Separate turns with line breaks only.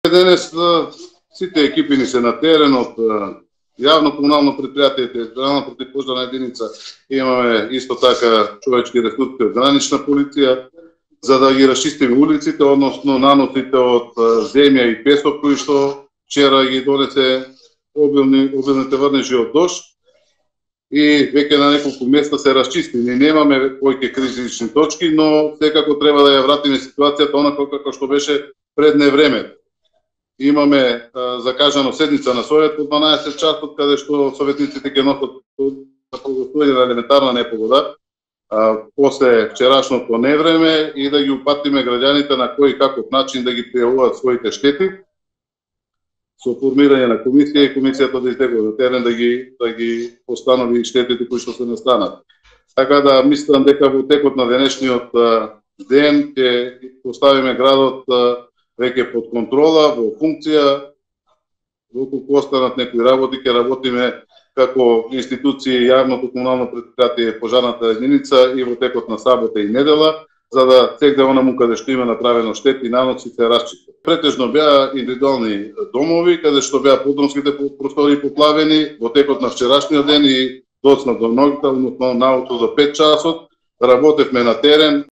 Денес сите екипи ни се на терен од јавно комунално предпријатие, територијална противпожарна единица, имаме исто така човечки ресурси од гранична полиција, за да ги расчистиме улиците, односно наносите од земја и песок кои што вчера ги донесе обилните врнежи од дожд и веќе на неколку места се расчисти. Ние немаме повеќе кризични точки, но секако треба да ја вратиме ситуацијата онако како што беше пред невреме. Имаме закажано седница на Совет по 12 часот, каде што советниците ќе носат прогласување на елементарна непогода после вчерашното невреме и да ги упатиме граѓаните на кој и каков начин да ги пријавуваат своите штети со формирање на комисија и комисијата да изтегува на терен да ги постанови штетите кои што се настанат. Така да мислам дека во текот на денешниот ден ќе поставиме градот веќе под контрола, во функција, доколку останат некои работи, ќе работиме како институции, јавното комунално предпријатие, пожарната единица и во текот на сабота и недела, за да секаде онаму каде што има направено штети и наноси се расчисти. Претежно беа индивидуални домови, каде што беа подромските простори поплавени во текот на вчерашниот ден и доцна до ноќта, односно наутро до 5 часот, работевме на терен.